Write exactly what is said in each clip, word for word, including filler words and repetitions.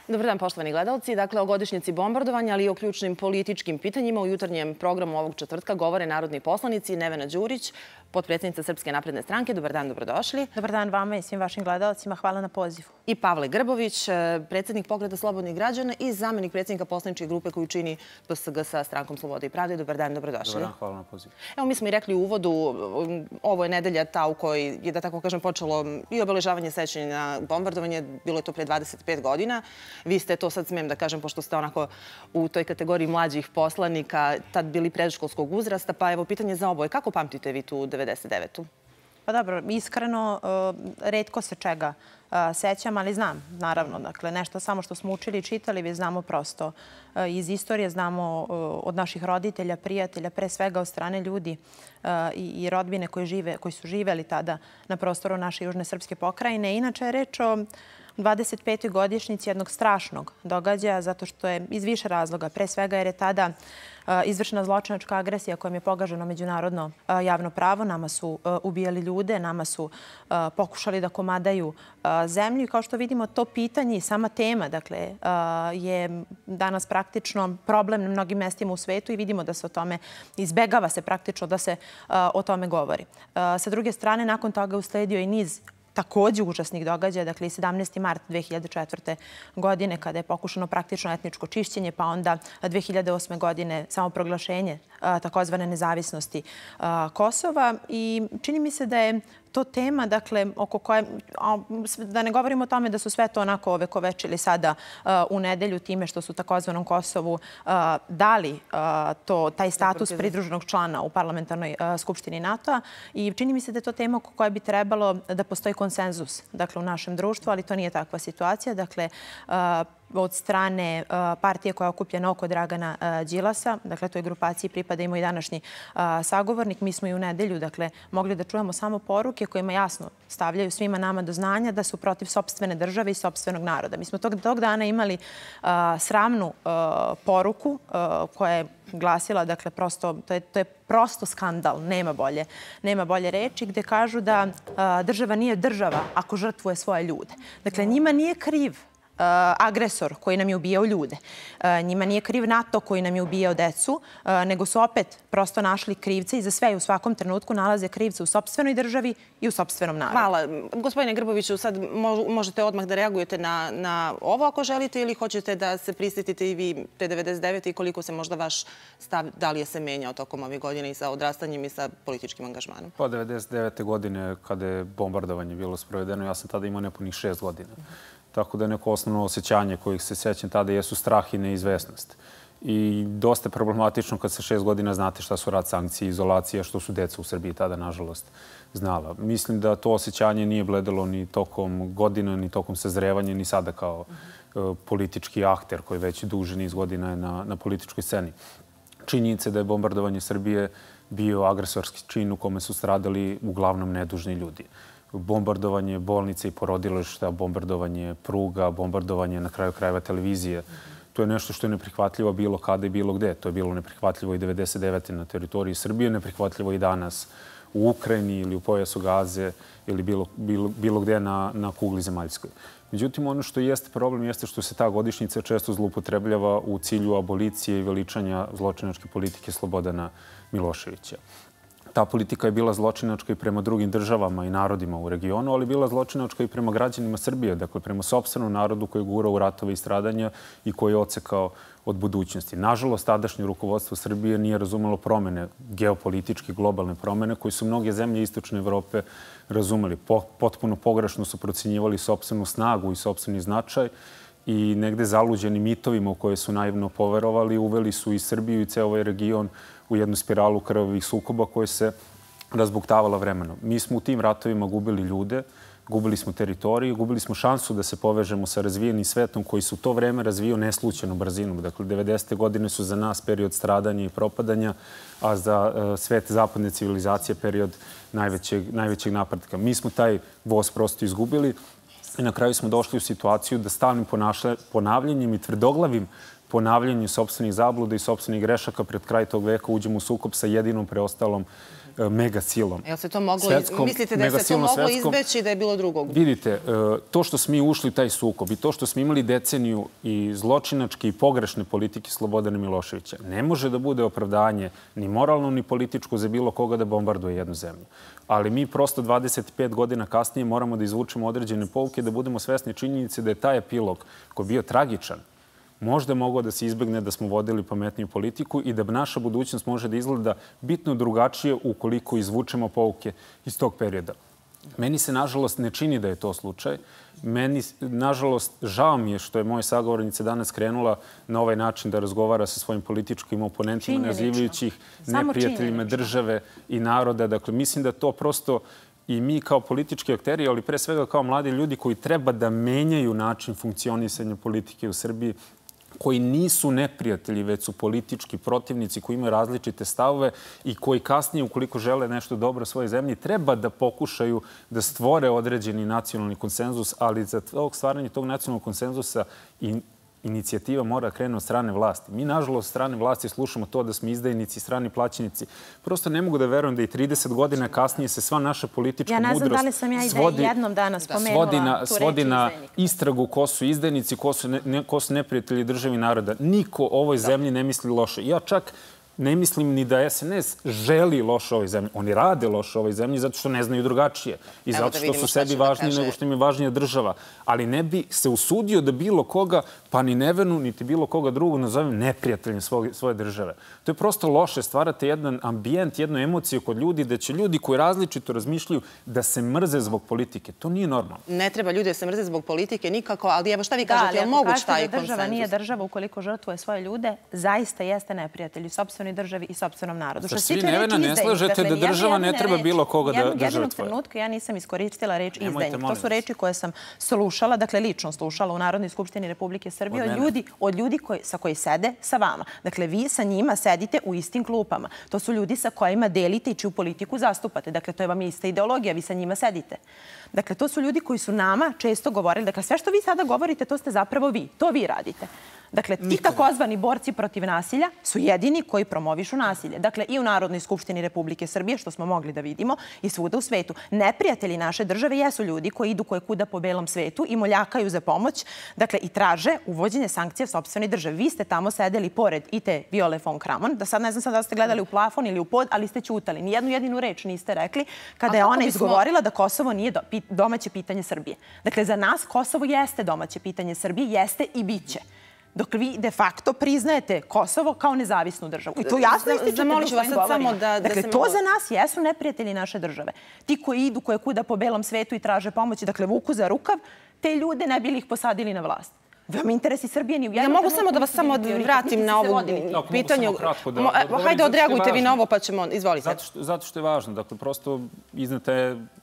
Dobar dan, poštovani gledalci. Dakle, o godišnjici bombardovanja, ali i o ključnim političkim pitanjima u jutarnjem programu ovog četvrtka govore narodni poslanici Nevena Đurić, potpredsjednica Srpske napredne stranke. Dobar dan, dobrodošli. Dobar dan vama i svim vašim gledalcima. Hvala na pozivu. I Pavle Grbović, predsjednik Pokreta slobodnih građana i zamenik predsjednika poslaničke grupe koju čini P S G sa Strankom slobode i pravde. Dobar dan, dobrodošli. Dobar dan, hvala na pozivu. Evo, mi smo i rekli u uvodu, ovo je nedelja ta u kojoj je, da tako kažem, počelo i obeležavanje sećanja na bombardovanje. Bilo je to pre dvadeset pet godina. Vi ste to, sad smijem da kažem, pošto ste onako u toj kategoriji mlađih poslanika, tad bili predškolskog uzrasta, pa evo pitanje za oboje. Kako pamtite vi tu devedeset devetu? Pa dobro, iskreno, retko se čega sećam, ali znam, naravno. Dakle, nešto samo što smo učili i čitali, vi znamo prosto iz istorije, znamo od naših roditelja, prijatelja, pre svega od strane ljudi i rodbine koji su živeli tada na prostoru naše južne srpske pokrajine. Inače je reč o dvadeset petoj godišnjici jednog strašnog događaja, zato što je iz više razloga. Pre svega jer je tada izvršena zločinačka agresija kojom je pogaženo međunarodno javno pravo. Nama su ubijali ljude, nama su pokušali da komadaju zemlju. I kao što vidimo, to pitanje i sama tema dakle, je danas praktično problem na mnogim mestima u svetu i vidimo da se o tome izbegava se praktično da se o tome govori. Sa druge strane, nakon toga usledio i niz također užasnih događaja, dakle i sedamnaesti mart dve hiljade četvrte. godine kada je pokušano praktično etničko čišćenje, pa onda dve hiljade osme. godine samoproglašenje takozvane nezavisnosti Kosova. I čini mi se da je to tema, dakle, oko koje, da ne govorimo o tome da su sve to onako ovekovečili sada u nedelju time što su takozvanom Kosovu dali to, taj status pridruženog člana u parlamentarnoj skupštini NATO-a. I čini mi se da je to tema oko koje bi trebalo da postoji konsenzus, dakle, u našem društvu, ali to nije takva situacija. Dakle, od strane partije koja je okupljena oko Dragana Đilasa, dakle, toj grupaciji pripada i moj današnji sagovornik. Mi smo i u nedelju, dakle, mogli da čujemo samo poruke kojima jasno stavljaju svima nama do znanja da su protiv sopstvene države i sopstvenog naroda. Mi smo tog, tog dana imali sramnu poruku koja je glasila, dakle, prosto, to je, to je prosto skandal, nema bolje, nema bolje reči, gde kažu da država nije država ako žrtvuje svoje ljude. Dakle, njima nije kriv agresor koji nam je ubijao ljude. Njima nije kriv NATO koji nam je ubijao decu, nego su opet prosto našli krivce i za sve i u svakom trenutku nalaze krivce u sopstvenoj državi i u sopstvenom narodu. Hvala. Gospodine Grboviću, sad možete odmah da reagujete na, na ovo ako želite ili hoćete da se prisjetite i vi te devedeset devete. i koliko se možda vaš stav, da li je se menjao tokom ovih godina i sa odrastanjem i sa političkim angažmanom? Pa devedeset devete. godine kada je bombardovanje bilo sprovedeno, ja sam tada imao nepunih šest godina. Tako da neko osnovno osjećanje kojih se sećam tada jesu strah i neizvesnost. I dosta je problematično kad se šest godina znate šta su rat, sankcije, izolacija, što su deca u Srbiji tada, nažalost, znala. Mislim da to osjećanje nije bledelo ni tokom godina, ni tokom sazrevanja, ni sada kao uh, politički akter koji već duže niz godina je na, na političkoj sceni. Činjenica da je bombardovanje Srbije bio agresorski čin u kome su stradali uglavnom nedužni ljudi. Bombardovanje bolnice i porodilišta, bombardovanje pruga, bombardovanje na kraju krajeva televizije. To je nešto što je neprihvatljivo bilo kada i bilo gde. To je bilo neprihvatljivo i devedeset devete. na teritoriji Srbije, neprihvatljivo i danas u Ukrajini ili u pojasu Gaze ili bilo, bilo, bilo gde na, na kugli zemaljskoj. Međutim, ono što jeste problem jeste što se ta godišnjica često zloupotrebljava u cilju abolicije i veličanja zločinačke politike Slobodana Miloševića. Ta politika je bila zločinačka i prema drugim državama i narodima u regionu, ali bila zločinačka i prema građanima Srbije, dakle prema sopstvenom narodu koji je gurao u ratove i stradanja i koji je odsekao od budućnosti. Nažalost, tadašnje rukovodstvo Srbije nije razumelo promene, geopolitičke, globalne promene, koje su mnoge zemlje Istočne Evrope razumeli. Potpuno pogrešno su procenjivali sopstvenu snagu i sopstveni značaj i negde zaluđeni mitovima u koje su naivno poverovali, uveli su i Srbiju i ceo ovaj region u jednu spiralu krvavih sukoba koje se razbuktavala vremenom. Mi smo u tim ratovima gubili ljude, gubili smo teritoriju, gubili smo šansu da se povežemo sa razvijenim svetom koji su u to vreme razvijao neslućenom brzinom. Dakle, devedesete. godine su za nas period stradanja i propadanja, a za uh, svet zapadne civilizacije period najvećeg, najvećeg napretka. Mi smo taj voz prosto izgubili i na kraju smo došli u situaciju da stalnim ponavljanjem i tvrdoglavim ponavljanjem sopstvenih zabluda i sopstvenih grešaka pred kraj tog veka uđemo u sukob sa jedinom preostalom megasilom. Jel se to moglo, mislite da se to moglo izbeći da je bilo drugog? Vidite, to što smo mi ušli taj sukob i to što smo imali deceniju i zločinačke i pogrešne politike Slobodana Miloševića ne može da bude opravdanje ni moralno ni političko za bilo koga da bombarduje jednu zemlju. Ali mi prosto dvadeset pet godina kasnije moramo da izvučemo određene pouke, da budemo svesni činjenice da je taj epilog koji je bio tragičan možda mogao da se izbegne da smo vodili pametniju politiku i da naša budućnost može da izgleda bitno drugačije ukoliko izvučemo pouke iz tog perioda. Meni se, nažalost, ne čini da je to slučaj. Meni, nažalost, žao mi je što je moja sagovornica danas krenula na ovaj način da razgovara sa svojim političkim oponentima, nazivajući ih neprijateljima države i naroda. Dakle, mislim da to prosto i mi kao politički akteri, ali pre svega kao mladi ljudi koji treba da menjaju način funkcionisanja politike u Srbiji, koji nisu neprijatelji, već su politički protivnici koji imaju različite stavove i koji kasnije, ukoliko žele nešto dobro svojoj zemlji, treba da pokušaju da stvore određeni nacionalni konsenzus, ali za stvaranje tog nacionalnog konsenzusa i inicijativa mora krene od strane vlasti. Mi, nažalost, strane vlasti slušamo to da smo izdajnici, strani plaćenici. Prosto ne mogu da verujem da i trideset godina kasnije se sva naša politička mudrost svodi... Ja ne znam da li sam ja i da jednom danas spomenula tu reč svodi na istragu ko su izdajnici, ko su neprijatelji državi naroda. Niko ovoj zemlji ne misli loše. Ja čak ne mislim ni da S N S želi loše ovoj zemlji. Oni rade loše ovoj zemlji zato što ne znaju drugačije. I zato što su sebi važniji nego što im je važnija država. Ali ne bi se usudio da bilo koga, pa ni Nevenu, niti bilo koga drugog nazovem neprijateljem svoje države. To je prosto loše. Stvarate jedan ambijent, jednu emociju kod ljudi da će ljudi koji različito razmišljaju da se mrze zbog politike. To nije normalno. Ne treba ljudi da se mrze zbog politike nikako, ali evo šta vi kažete, je li moguć taj konsenzus? Država nije država ukoliko žrtvuje svoje ljude, zaista jeste neprijatelj sopstvenoj državi i sopstvenom narodu. Sa svi Nevena ne slažete da država ne treba bilo koga da žrtvuje? Jednog trenutka ja nisam iskoristila reč izdajnik. To su reči koje sam slušala, dakle lično slušala u Narodnoj skupštini Republike Srbije od ljudi sa koji sede sa vama. Dakle, vi sa njima sedite u istim klupama. To su ljudi sa kojima delite i čiju politiku zastupate. Dakle, to je vam ista ideologija, vi sa njima sedite. Dakle, to su ljudi koji su nama često govorili. Dakle, sve što vi sada govorite, to ste zapravo vi. To vi radite. Dakle, ti takozvani borci protiv nasilja su jedini koji promovišu nasilje. Dakle, i u Narodnoj skupštini Republike Srbije, što smo mogli da vidimo, i svuda u svetu. Neprijatelji naše države jesu ljudi koji idu koje kuda po belom svetu i moljakaju za pomoć, dakle, i traže uvođenje sankcija sopstvenoj državi. Vi ste tamo sedeli pored i te Viole von Kramon, da sad ne znam sad da ste gledali u plafon ili u pod, ali ste ćutali. Nijednu jedinu reč niste rekli kada je ona izgovorila da Kosovo nije domaće pitanje Srbije. Dakle, za nas Kosovo jeste domaće pitanje Srbije, jeste i bit će. Dok vi de facto priznajete Kosovo kao nezavisnu državu. I to jasno ističete u svojim govorima. Dakle, to za nas jesu neprijatelji naše države. Ti koji idu koje kuda po belom svetu i traže pomoći, dakle, vuku za rukav, te ljude ne bili ih posadili na vlast. Vam interesi Srbije ni u jednom... Ja mogu samo da vas samo vratim na ovo pitanje. Hajde, odreagujte vi na ovo pa ćemo... Izvolite. Zato što je važno. Dakle, prosto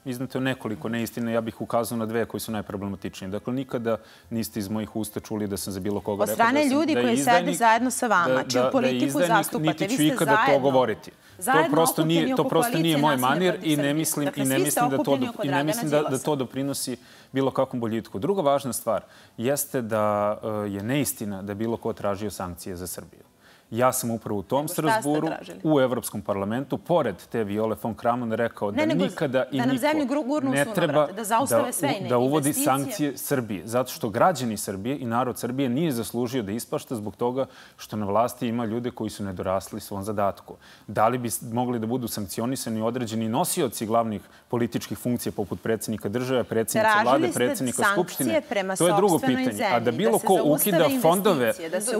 iznate nekoliko neistine. Ja bih ukazao na dve koji su najproblematičniji. Dakle, nikada niste iz mojih usta čuli da sam za bilo koga rekao da je izdajnik... Od strane ljudi koji sede zajedno sa vama, čiju politiku zastupate, vi ste zajedno. Nikada to govoriti. To prosto nije moj manir i ne mislim da to doprinosi bilo kakvom boljitku. Druga važna stvar jeste da je neistina da je bilo ko tražio sankcije za Srbiju. Ja sam upravo u tom Strasburu, u Evropskom parlamentu, pored te Viole von Kramon rekao da nikada i niko ne treba da uvodi sankcije Srbije. Zato što građani Srbije i narod Srbije nije zaslužio da ispašta zbog toga što na vlasti ima ljude koji su nedorasli svom zadatku. Da li bi mogli da budu sankcionisani određeni nosioci glavnih političkih funkcija poput predsjednika države, predsjednika vlade, predsjednika skupštine? To je drugo pitanje. A da bilo ko ukida fondove,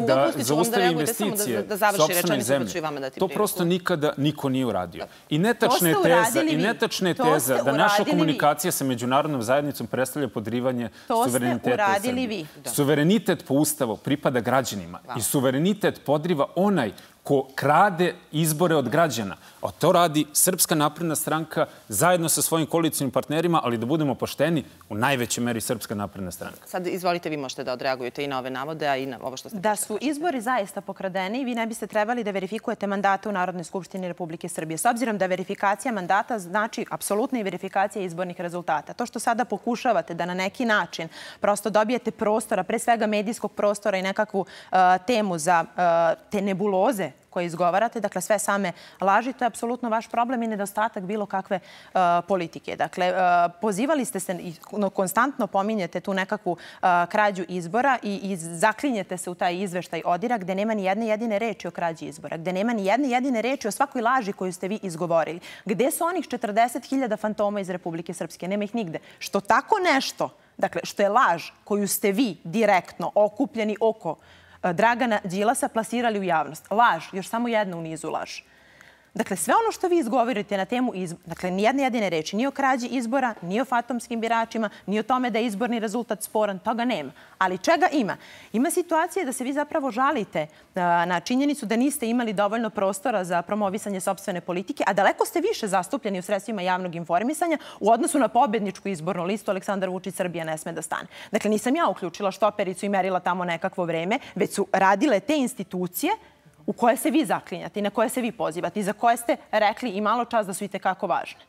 da zaustavi investicije, da završi rečenicu pa ću i vama dati priliku. To prosto nikada niko nije uradio. I netačna je teza da naša komunikacija sa međunarodnom zajednicom predstavlja podrivanje suvereniteta Srbije. Suverenitet po Ustavu pripada građanima i suverenitet podriva onaj ko krade izbore od građana. A to radi Srpska napredna stranka zajedno sa svojim koalicijnim partnerima, ali da budemo pošteni, u najvećoj meri Srpska napredna stranka. Sad izvolite, vi možete da odreagujete i na ove navode, a i na ovo što ste... Da su izbori zaista pokradeni, vi ne biste trebali da verifikujete mandate u Narodnoj skupštini Republike Srbije. S obzirom da verifikacija mandata znači apsolutna i verifikacija izbornih rezultata. To što sada pokušavate da na neki način prosto dobijete prostora, pre svega medijskog prostora i nekakvu temu za te nebuloze koje izgovarate, dakle sve same laži, to je apsolutno vaš problem i nedostatak bilo kakve uh, politike. Dakle, uh, pozivali ste se i no, konstantno pominjete tu nekakvu uh, krađu izbora i, i zaklinjete se u taj izveštaj ODIR-a gde nema ni jedne jedine reči o krađi izbora, gde nema ni jedne jedine reči o svakoj laži koju ste vi izgovorili. Gde su onih četrdeset hiljada fantoma iz Republike Srpske? Nema ih nigde. Što tako nešto, dakle, što je laž koju ste vi direktno okupljeni oko Dragana Đilasa plasirali u javnost. Laž, još samo jedna u nizu laž. Dakle, sve ono što vi izgovorite na temu izbora, dakle, nijedne jedine reči, ni o krađi izbora, ni o fantomskim biračima, ni o tome da je izborni rezultat sporan, toga nema. Ali čega ima? Ima situacije da se vi zapravo žalite na činjenicu da niste imali dovoljno prostora za promovisanje sopstvene politike, a daleko ste više zastupljeni u sredstvima javnog informisanja u odnosu na pobedničku izbornu listu Aleksandar Vučić Srbija ne sme da stane. Dakle, nisam ja uključila štopericu i merila tamo nekakvo vreme, već su radile te institucije u koje se vi zaklinjate i na koje se vi pozivate i za koje ste rekli i malo čas da su i tekako važne.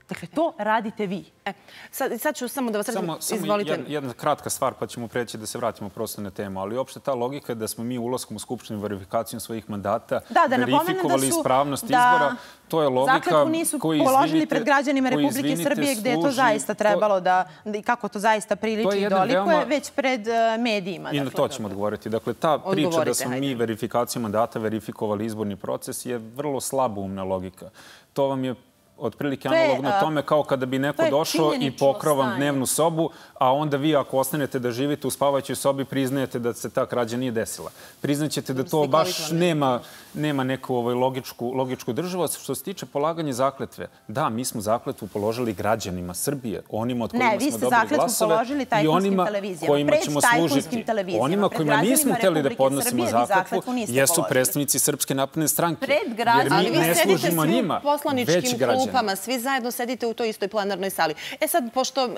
Dakle, to radite vi. E, sad, sad ću samo da vas samo, izvolite. Samo jedna kratka stvar, pa ćemo preći da se vratimo prosto na temu. Ali uopšte ta logika je da smo mi ulaskom u Skupštinu verifikacijom svojih mandata da, da verifikovali da su, ispravnost da izbora. To je logika nisu koji položili pred građanima Republike Srbije gde je to zaista trebalo da, i kako to zaista priliči i dolikuje, veoma... već pred uh, medijima. I na to ćemo odgovoriti. Dakle, ta priča Odgovorite, da smo hajde. mi verifikacijom mandata verifikovali izborni proces je vrlo slaboumna logika. To vam je otprilike analogno tome kao kada bi neko došao i pokrao vam dnevnu sobu, a onda vi ako ostanete da živite u spavajućoj sobi priznajete da se ta krađa nije desila. Priznaćete da to baš nema, nema neku ovaj, logičku, logičku državu. Što se tiče polaganja zakletve, da, mi smo zakletvu položili građanima Srbije, onima od kojima ne, smo dobili glasove i onima kojima ćemo služiti. Onima kojima nismo hteli da podnosimo zakletvu jesu predstavnici Srpske napredne stranke. Jer mi ne služimo njima, već građanima. Klupama, svi zajedno sedite u toj istoj plenarnoj sali. E sad, pošto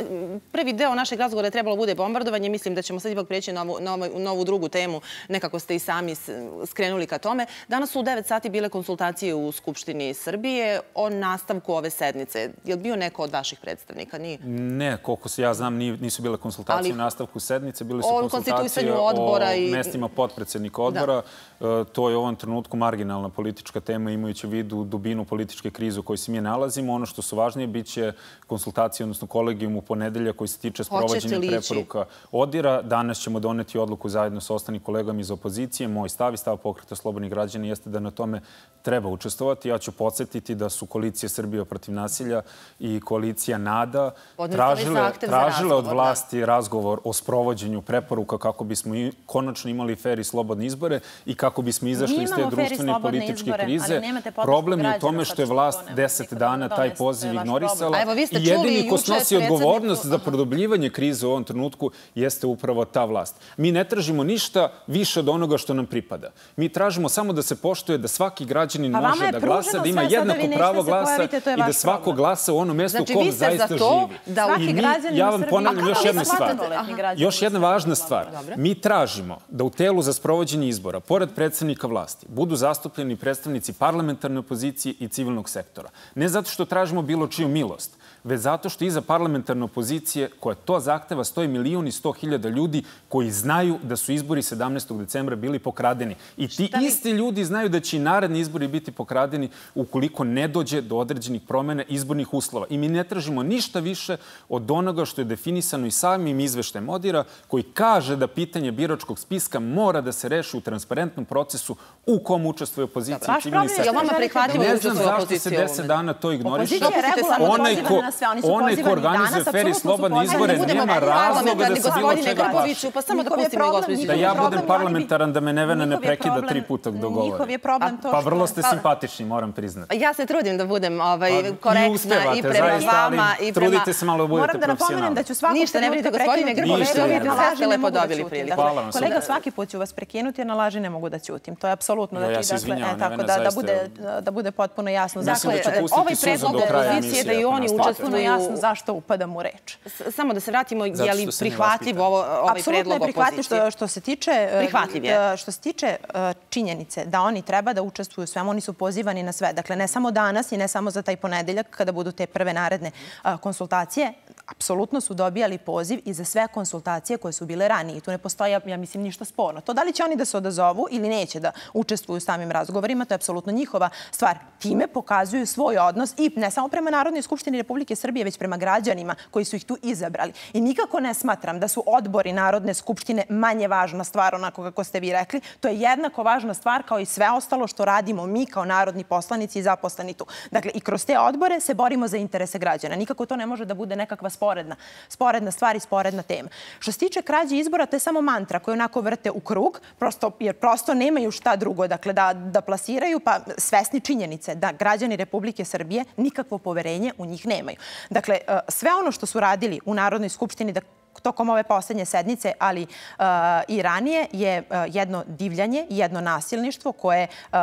prvi deo našeg razgovora je trebalo bude bombardovanje, mislim da ćemo sad ipak preći na ovu, na ovu, na ovu drugu temu, nekako ste i sami skrenuli ka tome. Danas su u devet sati bile konsultacije u Skupštini Srbije o nastavku ove sednice. Je li bio neko od vaših predstavnika? Nije? Ne, koliko se ja znam, nisu bile konsultacije o nastavku sednice, bile su konsultacije o i... mestima potpredsednika odbora. Da. To je u ovom trenutku marginalna politička tema, imajući u vidu dubinu političke krize u kojoj se mi nalazimo. Ono što su važnije bit će konsultacije, odnosno kolegijum u ponedelja koji se tiče sprovođenja preporuka ODIR-a. Danas ćemo doneti odluku zajedno sa ostalim kolegama iz opozicije. Moj stav i stav Pokreta slobodnih građana jeste da na tome treba učestvovati. Ja ću podsjetiti da su koalicija Srbija protiv nasilja i koalicija NADA tražile, tražile od vlasti razgovor o sprovođenju preporuka kako bismo i konačno imali fer i slobodne izbore i kako bismo izašli iz te društvene i političke krize. Problem je u tome što je vlast deset dana taj poziv ignorisala i jedini ko snosi odgovornost za produbljivanje krize u ovom trenutku jeste upravo ta vlast. Mi ne tražimo ništa više od onoga što nam pripada. Mi tražimo samo da se poštuje da svaki građanin može da glasa, da ima jednako pravo glasa i da svako glasa u onom mjestu u kom zaista živi. I mi, ja vam ponavljam još jedna stvar. Još jedna važna stvar. Mi tražimo da u telu za sprovođenje izbora, pored predstavnika vlasti, budu zastupljeni predstavnici parlamentarne opozicije i civilnog sektora. Ne zato što tražimo bilo čiju milost, već zato što iza parlamentarne opozicije koja to zahteva stoji milijun i sto hiljada ljudi koji znaju da su izbori sedamnaestog decembra bili pokradeni. I ti isti ljudi znaju da će i naredni izbori biti pokradeni ukoliko ne dođe do određenih promjena izbornih uslova. I mi ne tražimo ništa više od onoga što je definisano i samim izveštajem ODIR-a koji kaže da pitanje biračkog spiska mora da se reši u transparentnom procesu u kom učestvuje opozicija i civilni sektor. Ne znam zašto se deset dana to ignoriše. Onaj ko organizuje fer i slobodne izbore nema razloga da se bilo čega plaši. Pa samo dopustite mi, gospođice. Da ja budem parlamentaran, da me Nevena ne prekida tri puta dok dogovori. Pa vrlo ste simpatični, moram priznati. Ja se trudim da budem korektna i prema vama i prema... Trudite se malo da budete profesionalni. Moram da napomenem da ću svakog Ništa, ne budete gospodine Grbović, vi ste lepo dobili priliku. Kolega, svaki put ću vas prekinuti jer na laži ne mogu da ćutim. To je apsolutno. Ja se izvinjavam, Nevena, zaista... Da bude potpuno jasno. Mislim da ću pustiti suzu do kraja emisije. Da i oni učestvuju... jasno zašto upadam u reč. Samo da se vratimo, je li prihvatljiv ovaj predlog opozicije? Apsolutno je što se tiče... Prihvatljiv je. Što se tiče činjenice da oni treba da učestvuju u svemu, oni su pozivani na sve. Dakle, ne samo danas i ne samo za taj ponedeljak kada budu te prve naredne konsultacije, apsolutno su dobijali poziv i za sve konsultacije koje su bile ranije. Tu ne postoji, ja mislim, ništa sporno. To da li će oni da se odazovu ili neće da učestvuju u samim razgovorima, to je apsolutno njihova stvar. Time pokazuju svoj odnos i ne samo prema Narodnoj skupštini Republike Srbije, već prema građanima koji su ih tu izabrali. I nikako ne smatram da su odbori Narodne skupštine manje važna stvar, onako kako ste vi rekli. To je jednako važna stvar kao i sve ostalo što radimo mi kao narodni poslanici i zaposleni tu. Dakle, i kroz te odbore se borimo za interese građana. Nikako to ne može da bude nekakva sporedna, sporedna stvar i sporedna tema. Što se tiče krađe izbora, to je samo mantra koju onako vrte u krug, prosto, jer prosto nemaju šta drugo, dakle, da, da plasiraju, pa svesni činjenice da građani Republike Srbije nikakvo poverenje u njih nemaju. Dakle, sve ono što su radili u Narodnoj skupštini da tokom ove poslednje sednice, ali uh, i ranije, je uh, jedno divljanje, jedno nasilništvo koje uh,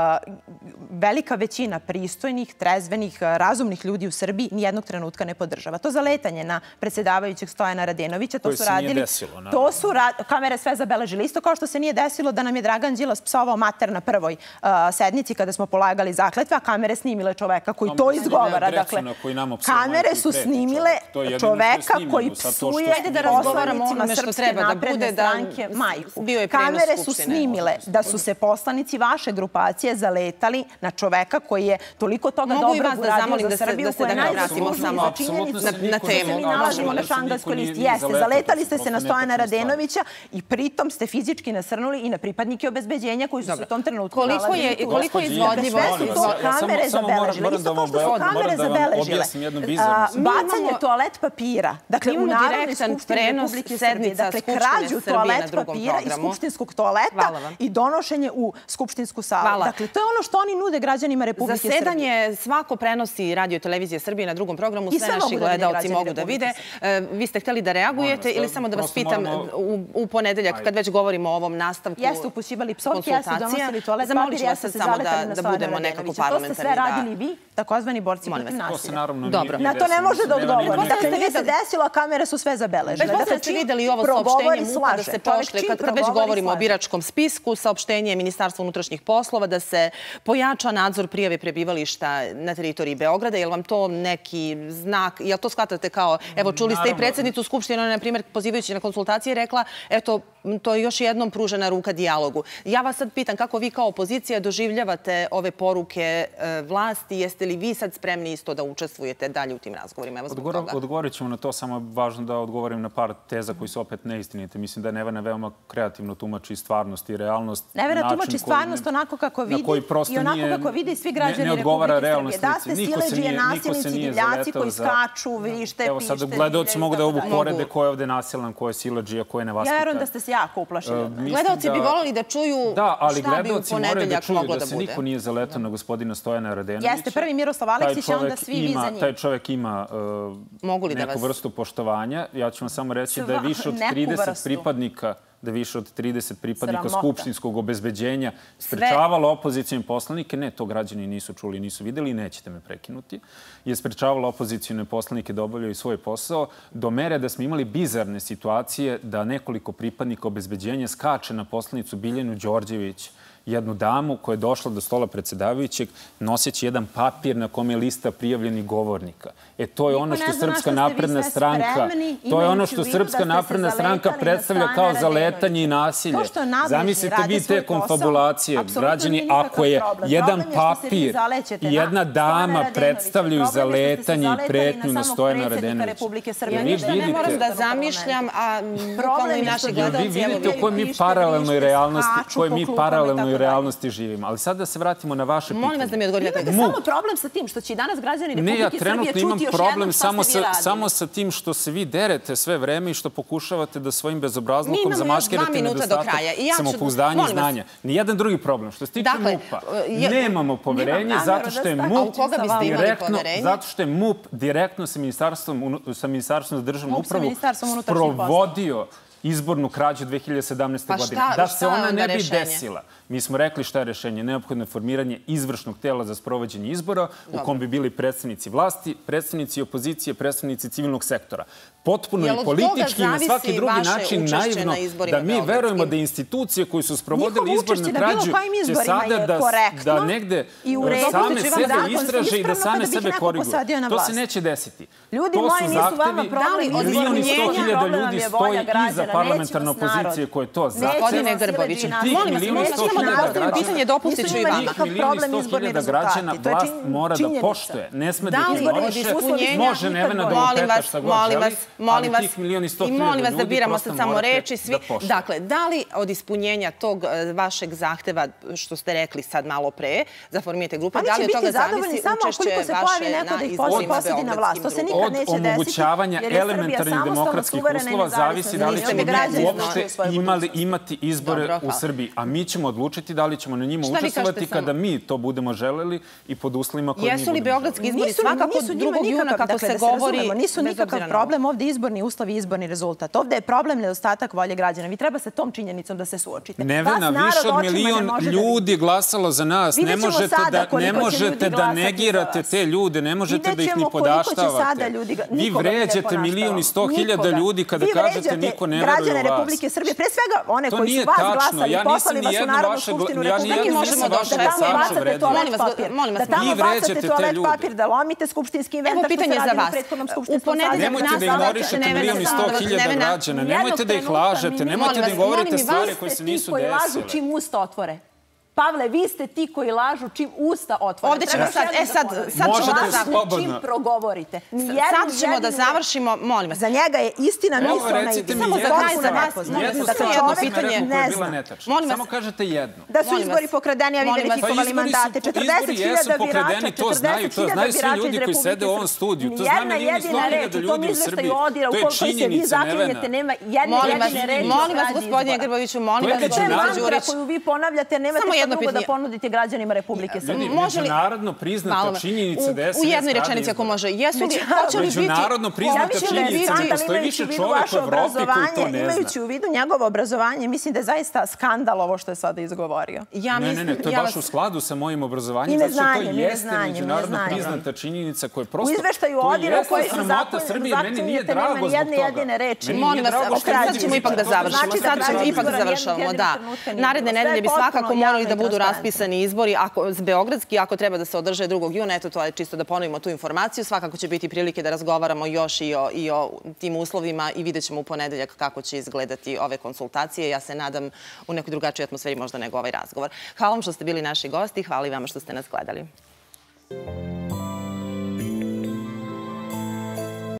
velika većina pristojnih, trezvenih, uh, razumnih ljudi u Srbiji nijednog trenutka ne podržava. To zaletanje na predsjedavajućeg Stojana Radenovića, to su radili... Desilo, to su ra kamere sve zabeležili. Isto kao što se nije desilo da nam je Dragan Đilas psovao mater na prvoj uh, sednici kada smo polagali zakletve, a kamere snimile čoveka koji to izgovara. Dakle, kamere su snimile čoveka koji psuje poslanicima Srpske napredne stranke majku. Kamere su snimile da su se poslanici vaše grupacije zaletali na čoveka koji je toliko toga dobro uradio za Srbiju, koja je najzaslužniji za činjenicu na temu. Mi nalazimo na Šangajskoj listi. Jeste, zaletali ste se na Stojana Radenovića i pritom ste fizički nasrnuli i na pripadnike obezbeđenja koji su se u tom trenutku nalazili. Koliko je izvodljivo? Sve su to kamere zabeležile. Isto kao što su kamere zabeležile. Bacanje toalet papira. Dakle, u Narodnoj skupštini Republike Srbije. Dakle, krađu toalet papira iz skupštinskog toaleta i donošenje u skupštinsku salu. Dakle, to je ono što oni nude građanima Republike Srbije. Zasedanje svako prenosi Radio Televizije Srbije na drugom programu. Sve naši gledalci mogu da vide. Vi ste hteli da reagujete ili samo da vas pitam u ponedeljak, kad već govorimo o ovom nastavku konsultacija? Jeste upućivali psovke, jeste donosili toalet papir, jeste se zaletali na Stojana Radenovića. To ste sve radili vi, takozvani borci protiv nasilja. Na to ne može da odgovori. Dakle, nije se desilo, a kamere su sve zabeležile. Dakle, ste videli ovo saopštenje MUP-a da se pošle, kad već govorimo o biračkom spisku, saopštenje Ministarstva unutrašnjih poslova da se pojača nadzor prijave prebivališta na teritoriji Beograda. Je li vam to neki znak? Je li to shvatate kao, evo, čuli ste i predsjednicu Skupštine, na primjer, pozivajući na konsultacije, rekla, eto, to je još jednom pružena ruka dijalogu. Ja vas sad pitam kako vi kao opozicija doživljavate ove poruke vlasti? Jeste li vi sad spremni isto da učestvujete dalje u tim razgovorima? Evo zbog toga. Odgovorit ćemo na to, samo važno da odgovorim na par teza koji su opet neistinite. Mislim da je Nevena veoma kreativno tumači stvarnost i realnost. Nevena tumači stvarnost onako kako vidi i onako kako vidi svi građani Republike Srbije. Da ste siledžije, nasilnici, divljaci koji skaču, vrište, evo sad gledalci mogu da ovu porede ko je ovde nasilan, ko je siledžija, ko je nevaspitan. Ja verujem da ste se jako uplašili. Gledalci bi volili da čuju šta bi u ponedeljak moglo da bude. Da se niko nije zaletao na gospodina Stojana Radenovića. Jeste, prvi Miroslav Aleksić, a onda svi vi za njim. Taj čovjek ima neku vrstu poštovanja. Ja ću vam samo reći da je više od trideset pripadnika da više od trideset pripadnika skupštinskog obezbeđenja sprečavalo opozicijne poslanike, ne, to građani nisu čuli, nisu videli i nećete me prekinuti, je sprečavalo opozicijne poslanike da obavljaju svoj posao do mere da smo imali bizarne situacije da nekoliko pripadnika obezbeđenja skače na poslanicu Biljanu Đorđević, jednu damu koja je došla do stola predsjedavajućeg noseći jedan papir na kome je lista prijavljenih govornika. E, to je ono što Srpska napredna stranka, to je ono što Srpska napredna stranka predstavlja kao zaletanje i nasilje. Zamislite vi te konfabulacije, građani, ako je jedan papir i jedna dama predstavljaju zaletanje i pretnju na Stojana Radenovića. Ja ništa ne moram da zamišljam, a bukvalno i naši gledalci... Vi vidite u kojoj mi paralelnoj realnosti, kojoj mi paralelnoj u realnosti živimo. Ali sad da se vratimo na vaše pitanje. Molim vas da mi odgovorite. Imate samo problem sa tim što će i danas građani Republike Srbije čuti još jednom šta ste vi radili. Ne, ja trenutno imam problem samo sa tim što se vi derete sve vreme i što pokušavate da svojim bezobrazlukom zamaskirate nedostatak samopouzdanja i znanja. Nijedan drugi problem. Što se tiče MUP-a, nemamo poverenje zato što je MUP zato što je MUP direktno sa Ministarstvom za državnu upravu sprovodio izbornu krađu dve hiljade sedamnaeste. godine. Da se ona ne bi desila. Mi smo rekli šta je rešenje. Neophodno je formiranje izvršnog tela za sprovođenje izbora u kom bi bili predstavnici vlasti, predstavnici opozicije, predstavnici civilnog sektora. Potpuno i politički i na svaki drugi način naivno da mi verujemo da institucije koji su sprovodili izbornu krađu će sada da negde same sebe istraže i da same sebe koriguju. To se neće desiti. Ljudi moji nisu vama problem. Milion i sto hiljada ljudi stoji iza parlamentarne opozicije koje to zahteva. Gospodine Grboviću, molim vas, molim vas, samo da postavim pitanje, dopustit ću i vama. Tih milion i sto hiljada građana vlast mora da poštuje. Ne sme da ignoriše, može Nevena da oketa šta god želi, ali tih milion i sto hiljada ljudi prosto morate da poštuje. Dakle, da li od ispunjenja tog vašeg zahteva, što ste rekli sad malo pre, za formirate grupe, da li od toga zavisi učešće vaše na izborima beogradskim grupama? Od omogućavanja elementarnih demokratskih uslova zavisi da li ćemo mi uopšte imati izbore u Srbiji. A mi ćemo odlučiti da li ćemo na njima učestvovati kada mi to budemo želeli i pod uslovima koje mi budemo želeli. Jesu li beogradski izbori svakako drugog juna, kako se govori? Nisu nikakav problem ovdje izborni uslovi i izborni rezultat. Ovdje je problem nedostatak volje građana. Vi treba sa tom činjenicom da se suočite. Nevena, više od milion ljudi glasalo za nas. Ne možete da negirate te ljude, ne možete da ih ni podaštavate. Vi vređate milion i sto hiljada ljudi kada kažete niko ne veruje u vas. Građane Republike Srbije, pre svega one koji su vas glasali, poslali vas u Narodnu skupštinu Republike Srbije, da tamo bacate toalet papir, da tamo bacate toalet papir, da lomite skupštinski inventar što se radili u prethodnom skupštinskom sazivu. Nemojte da ignorišete milion i sto hiljada građana, nemojte da ih lažete, nemojte da im govorite stvari koje se nisu desile. Vi ste ti koji lažu čim usta otvore. Pavle, vi ste ti koji lažu čim usta otvore. Ovdje ćemo sad, e sad, sad ćemo da završimo. Čim progovorite. Sad ćemo da završimo, molim vas. Za njega je istina mislona i samo za kraj za vas. Jednu stvar pitanje koja je bila netačna. Samo kažete jedno. Da su izbori pokradeni, a vi verifikovali mandate. četrdeset hiljada birača, četrdeset hiljada birača iz Republike Srbije. Nijedna jedina reč u tom izveštaju odira u koliko se vi zaklinjete, nema jedne jedine reči. Molim vas, gospodine Grboviću, molim vas, gospodine Đurić. Koju vi ponavljate, nemate drugo da ponudite građanima Republike Srbije. Međunarodno priznata činjenica da je u jednoj rečenici ako može. Jesu li, hoće li biti... Međunarodno priznata činjenica da postoji više čovjek u Evropi koji to ne zna. Imajući u vidu njegovo obrazovanje, mislim da je zaista skandal ovo što je sada izgovorio. Ne, ne, ne, to je baš u skladu sa mojim obrazovanjem, zato što to jeste međunarodno priznata činjenica koja je prosto... U izveštaju odira u kojoj se zaklinjete nema jedne jedine reči. Molim vas, sad ćemo ipak da završimo. Sad ćemo ipak da završamo, da. Naredne nedelje bi svakako morali da budu raspisani izbori beogradski, ako treba da se održe drugog juna. Eto, to je čisto da ponovimo tu informaciju. Svakako će biti prilike da razgovaramo još i o tim uslovima i vidjet ćemo u ponedeljak kako će izgledati ove konsultacije. Ja se nadam u nekoj drugačijoj atmosferi možda nego ovaj razgovor. Hvala vam što ste bili naši gosti. Hvala i vama što ste nas gledali.